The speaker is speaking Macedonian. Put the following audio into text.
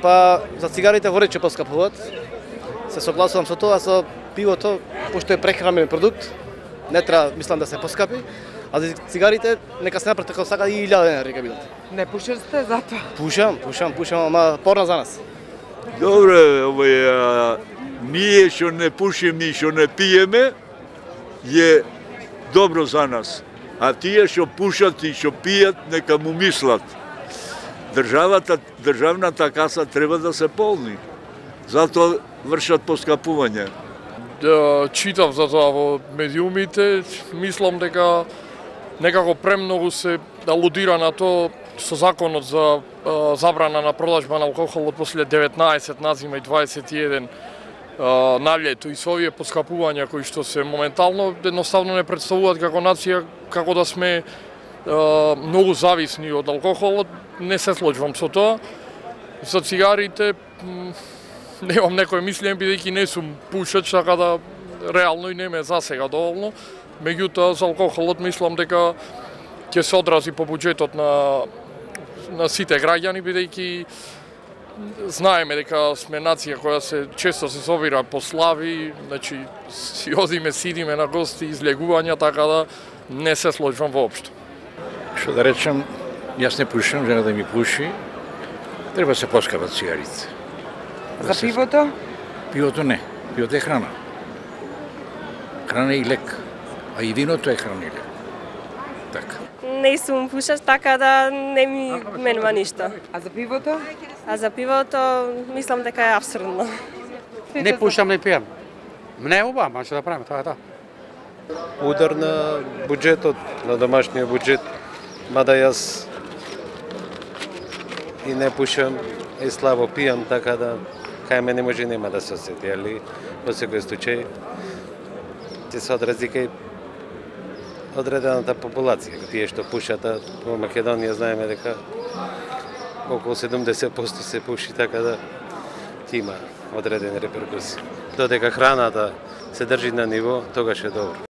За цигарите во ред ќе поскапуваат. Се согласувам со тоа, со пивото, пошто е прехранбен продукт, не треба, мислам, да се поскапи, а за цигарите нека се направи како сака и 1000 денари ќе бидат. Не пушиш сте затоа? Пушам, ама порно за нас. Добре, ние што не пушиме и што не пиеме, е добро за нас. А тие што пушат и што пијат, нека му мислат. Државната каса треба да се полни. Затоа вршат поскапување. Читав за тоа во медиумите, мислам дека некако премногу се алудира на тоа со законот за забрана на продажба на алкохол од после 19 назима и 21 на лето и со овие поскапувања кои што се моментално едноставно не представуваат како нација како да сме многу зависни од алкохолот, не се сложувам со тоа. За цигарите немам некој мислење бидејќи не сум пушач, така да реално и не ме засега доволно. Меѓутоа за алкохолот мислам дека ќе се одрази по буџетот на сите граѓани, бидејќи знаеме дека сме нација која се често се собира по слави, значи си одиме, сидиме на гости, излегувања, така да не се сложувам воопшто. Што да речем, јас не пушам, жена да ми пуши, треба се поскапат цигарите. За пивото? Пивото не, пивото е храна. Храна и лек, а и виното е храна и лек. Така. Не сум пушач, така да не ми менува ништо. А за пивото? А за пивото мислам дека е апсурдно. Не пушам, не пијам. Не е убаво, ама што да правиме, тоа е тоа. Удар на буџетот, на домашниот буџет, мада јас и не пушам, и слабо пијам, така да кај мене може нема да се осети, али во секој случај ќе се одрази кај одредената популација, тие што пушат, во Македонија знаеме дека околу 70% се пуши, така да ќе има одредени реперкусии. Додека храната се држи на ниво, тогаш е добро.